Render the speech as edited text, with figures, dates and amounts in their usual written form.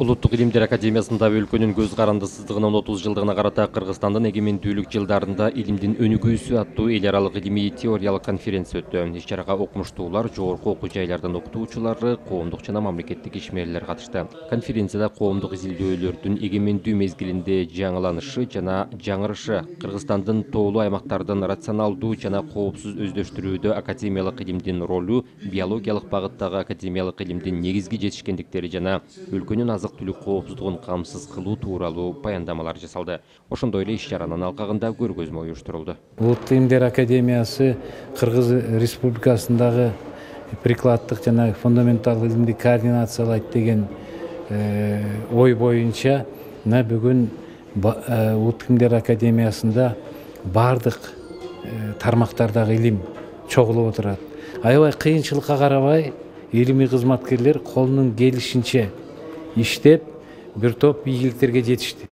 Улуттук илимдер академиясында өлкөнүн көз карандысыздыгынын 30 жылдыгына карата Кыргызстандын эгемендүүлүк жылдарында илимдин өнүгүүсү аттуу эл аралык илимий теориялык конференция өттү. Иш-чарага окумуштуулар, жогорку окуу жайлардын окутуучулары, коомдук жана мамлекеттик ишмерлер катышты. Конференцияда коомдук изилдөөлөрдүн эгемендүү мезгилинде жаңыланышы жана жаңырышы, Кыргызстандын тоолуу аймактардын рационалдуу жана коопсуз өздөштүрүүдө академиялык илимдин ролу, биологиялык багыттагы академиялык илимдин негизги жетишкендиктери жана өлкөнүн азык-түлүк коопсуздугун камсыз кылуу тууралуу баяндамалар жасалды. Ошондой эле иш-чаранын алкагында көргөзмө уюштурулду. Улуттук илимдер академиясы Кыргыз Республикасындагы прикладдык жана фундаменталдык илимди координациялайт деген ой боюнча бүгүн Улуттук илимдер академиясында бардык тармактардагы илим чогулуп отурат. Аябай кыйынчылыкка карабай илимий кызматкерлер колунун келишинче иштеп, бир топ ийгиликтерге жетишти.